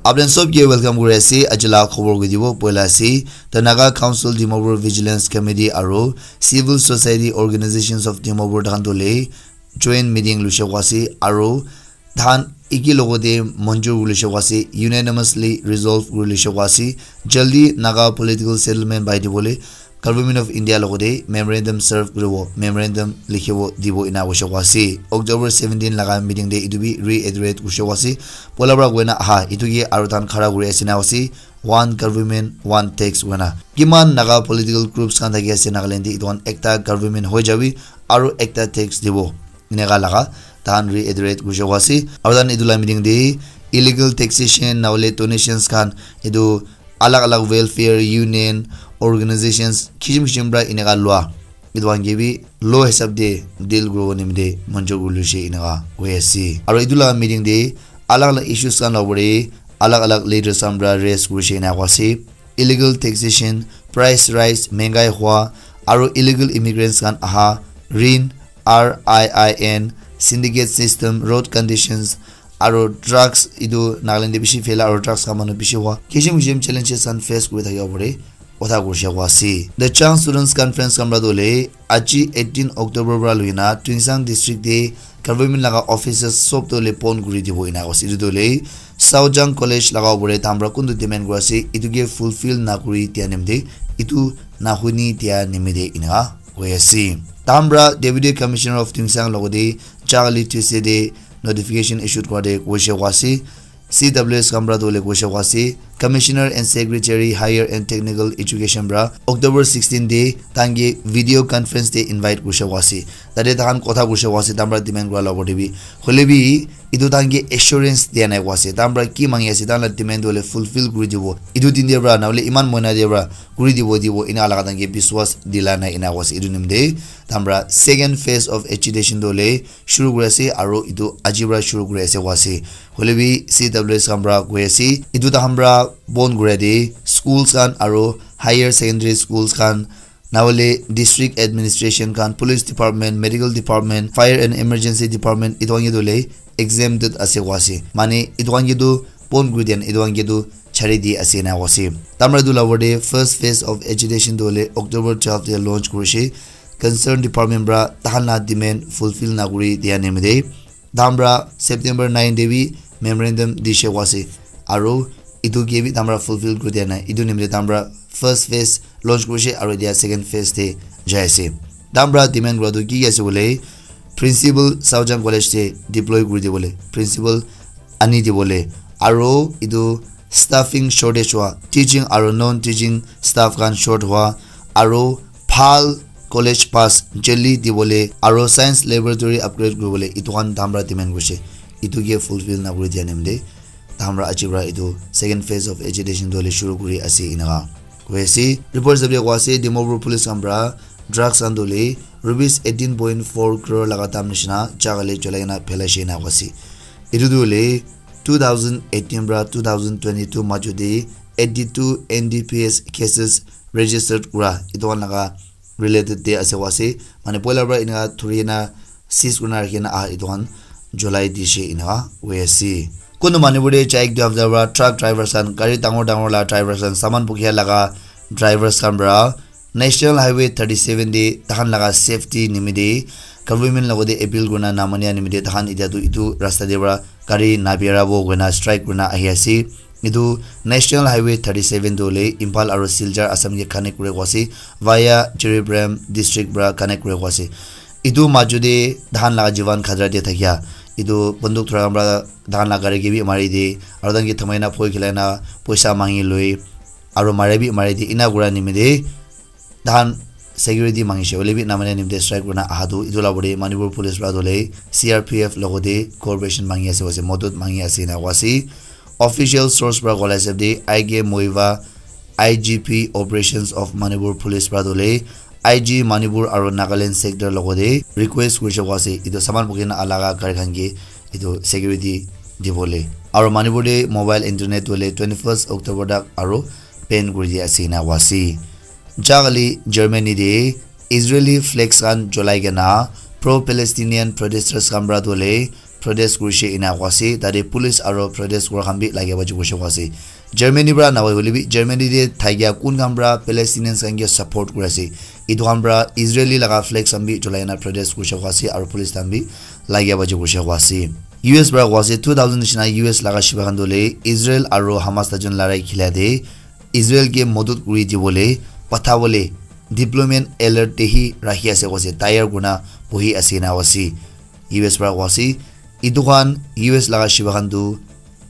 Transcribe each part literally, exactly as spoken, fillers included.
Apni sob ke welcome kuri ase. Aji la khobor koi dibo poila ase. The Naga Council Dimapur Vigilance Committee aro Civil Society Organizations of Dimapur tahan tole joint meeting lushe kwa ase aro tahan iki logote monjur kuri lushe kwa ase, unanimously resolve kuri lushe kwa ase. Jaldi Naga political settlement pai dibole Government of India logote memorandum serve kuribo, memorandum likhibo dibo ina koshe kwa ase. October seventeen laga meeting de itu bi reiterate koshe kwa ase. Pola pra koina aha, itu ke aro tahan khara kuri ase na ase. One government, one tax koina. Kiman Naga political groups khan thaki ase Nagaland de, itu khan ekta government hoi jabi, aro ekta tax dibo. Eneka laga tahan reiterate kuri jabo ase. Aru tahan etu la meeting te illegal taxation nahole donations khan etu alag alag welfare union, organizations kisim kisim pra eneka lua etu khan ke bi law hisab te deal kuribo nimite manjur kuri loise eneka koi ase. Aru etu la meeting te alag alag issues khan la upor te alag alag leaders khan pra raise kurise eneka koi ase. Illegal taxation, price rise, mengai hua, aru illegal immigrants khan aha, rin, R I I N, syndicate system, road conditions, aru drugs, etu Nagaland te bishi phaila aru drugs khan manu bishi hua. Kisim kisim challenges khan face kuri thakibo pare, kotha kuri share kuri ase. The Chang Students Conference khan pra tu hoile, aji eighteen October pra loina Tuensang district te government laga offices sob tu hoile bon kuri dibo ena koi ase. Etu tu hoile Saojang College laga upor te tahan pra kuntu demand kuri ase, etu ke fulfill na kuri dia nimite, etu na huni dia nimite ena koi ase. Tahan pra Deputy Commissioner of Tuensang logote jagale Tuesday te notification issued kura te koise koi ase. C W S khan pra tu hoile koise koi ase. Commissioner and Secretary Higher and Technical Education pra October sixteen te tahan ke video conference te invite kurise koi ase. Tate tahan kotha kurise koi ase, tahan pra demand kura la upor te bi. Hoile bi, etu tahan ke assurance dia nai koi ase. Tahan pra ki mangi ase, tahan la demand tu hoile fulfill kuri dibo. Etu din te pra, nahole iman mohina te pra, kuri dibo, dibo, ena laga tahan ke biswas dila nai ena koi ase. Etu nimite, tahan pra second phase of agitation tu hoile shuru kuri ase, aru etu aji pra shuru kuri ase koi ase. Hoile bi C W S khan pra koi ase, etu tahan pra bon kura te schools khan aru higher secondary schools khan, nahole district administration khan, police department, medical department, fire and emergency department, etu khan ke tu hoile exempted ase koi ase. Mane etu khan ke tu bon kuri dia nai, etu khan ke tu chari di ase ena koi ase. Tahan pra etu la upor te first phase of agitation tu hoile October twelve te launch kurise. Concerned department pra tahan la demand fulfill na kuri dia nimite tahan pra September nine te bi memorandum dise koi ase. Aru etu ke bi tahan pra fulfill kuri dia nai. Etu nimite tahan pra first phase launch kurise aru etia second phase te jai ase. Tahan pra demand kura tu ki ki ase koile, principal Saojang College te deploy kuri dibole, principal ani dibole, aru etu staffing shortage hua, teaching aru non teaching staff khan short hua, aru bhal college pass jaldi dibole, aru science laboratory upgrade kuribole, etu khan tahan pra demand kurise. Etu ke fulfill na kuri dia nimite tahan pra aji pra etu second phase of agitation tu hoile shuru kuri ase eneka koi ase. Report hisab te koi ase, Dimapur police khan pra drugs khan tu hoile rupees eighteen point four crore laga dam nishina jagale cholai kena phelaise ena koi ase. Etu tu hoile two thousand eighteen pra two thousand twenty-two majo te eighty-two N D P S cases registered kura etu khan laga related te ase koi ase. Mane poila pra eneka dhuri kena seize kurina rakhi kena aha etu khan cholai dise eneka koi ase. Kuntu Manipur te chai ek dui hapta pra truck drivers khan, gari dangor dangor la drivers khan, saman bukia laga drivers khan pra National Highway thirty-seven te tahan laga safety nimite government logote appeal kurina namania nimite tahan etia tu etu rasta te pra gari nabirabo koina strike kurina ahi ase. Etu National Highway thirty-seven tu hoile Imphal aru Silchar Assam ke connect kure koi ase via Jiribam district pra connect kure koi ase. Etu majo te tahan laga jivan khatra te thakia etu banduk dhura khan pra tahan la gari ke bi mari de, aru tahan ke thamai na phoi khilai na poisa mangi loi, aru mare bi mari de, ena kura nimite tahan security mangishe hoile bi namania nimite strike kurina aha tu etu la upor te Manipur police pra tu hoile C R P F logote cooperation mangi ase, ase modot mangi ase ena koi ase. Official source pra kola hisab te I K Muivah, I G P Operations of Manipur Police pra tu hoile I G Manipur aru Nagaland sector logote request kurise koi ase etu saman bukhi na aha laga gari khan ke etu security dibole. Aru Manipur te mobile internet tu hoile twenty-first October tak aru ban kuri dia ase ena koi ase. Jagale Germany te Israeli flags khan cholai kena pro-Palestinian protesters khan pra tu hoile protest kurishe ena koa ase. Tate police aro protest kura khan bi lagia baji kurishe koa ase. Germany pra nahoi hoile bi Germany te thakia kun khan pra Palestinians khan ke support kuri ase, etu khan pra Israeli laga flags khan bi cholai na protest kurishe koa ase aro police khan bi lagia baji kurishe koa ase. U S pra koa ase two thousand nishina U S laga shiba khan tu hoile Israel aro Hamas ta jun larai khilia te Israel ke modot kuri dibole pathabole deployment alert te hi rakhi ase koa ase, tayar kurina bohi ase ena koa ase. U S pra koa ase etu khan U S laga shiba khan tu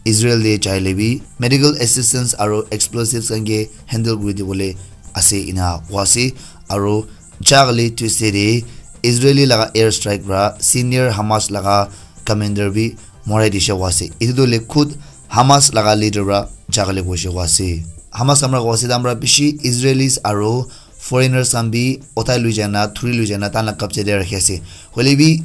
Israel te jai le bi medical assistance aro explosives khan ke handle kuri dibole ase ena koa ase. Aro jagale Tuesday te Israeli laga air strike pra senior Hamas laga commander bi morai dishe koa ase. Etu tu le khud Hamas laga leader pra jagale koishe koa ase. Hamas khan pra koa ase, tahan pra bishi Israelis aro foreigners khan bi otai lui jana, thuri lui jana, tahan la kabja te rakhi ase. Hoile bi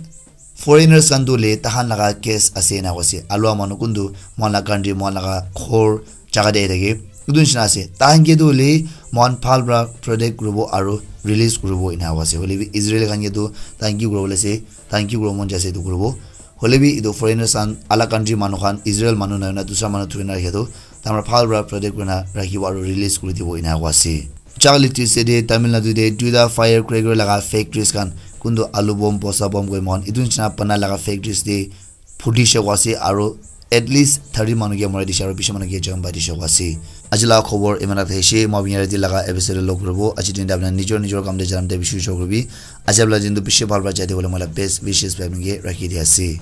foreigners khan tu le tahan laga case ase ena koise. Alua manu kuntu mohan la country, mohan laga ghor jaga te ahi thake. Etu nishina ase. Tahan ke tu hoile mohan bhal pra protect kuribo aro release kuribo ena koise. Hoile bi Israel khan ke tu tahan ki kuribo le ase, tahan ki kuribo mon jai ase etu kuribo. Hoile bi etu foreigners khan, alak country manu khan, Israel manu nahoi na dusra manu thuri na rakhe tu, tahan pra bhal pra protect kurina rakhibo aro release kuri dibo ena koa ase. Jagale Tuesday te Tamil Nadu te duita firecracker laga factories khan, kuntu alu bomb, bosta bomb koi mohan, etu nishina bana laga factories te phutishe koa ase aro at least thirty manu ke morai dishe aro bishi manu ke jon pai dishe koa ase. Aji laga khobor iman tak thakishi, moi apni yate laga episode log kuribo. Aji din te apni nijor nijor kam te janam te bishi bishi kuribi. Aji apni din tu bishi bhal pra jai dibo le moi la best wishes pai apni ke rakhi di ase.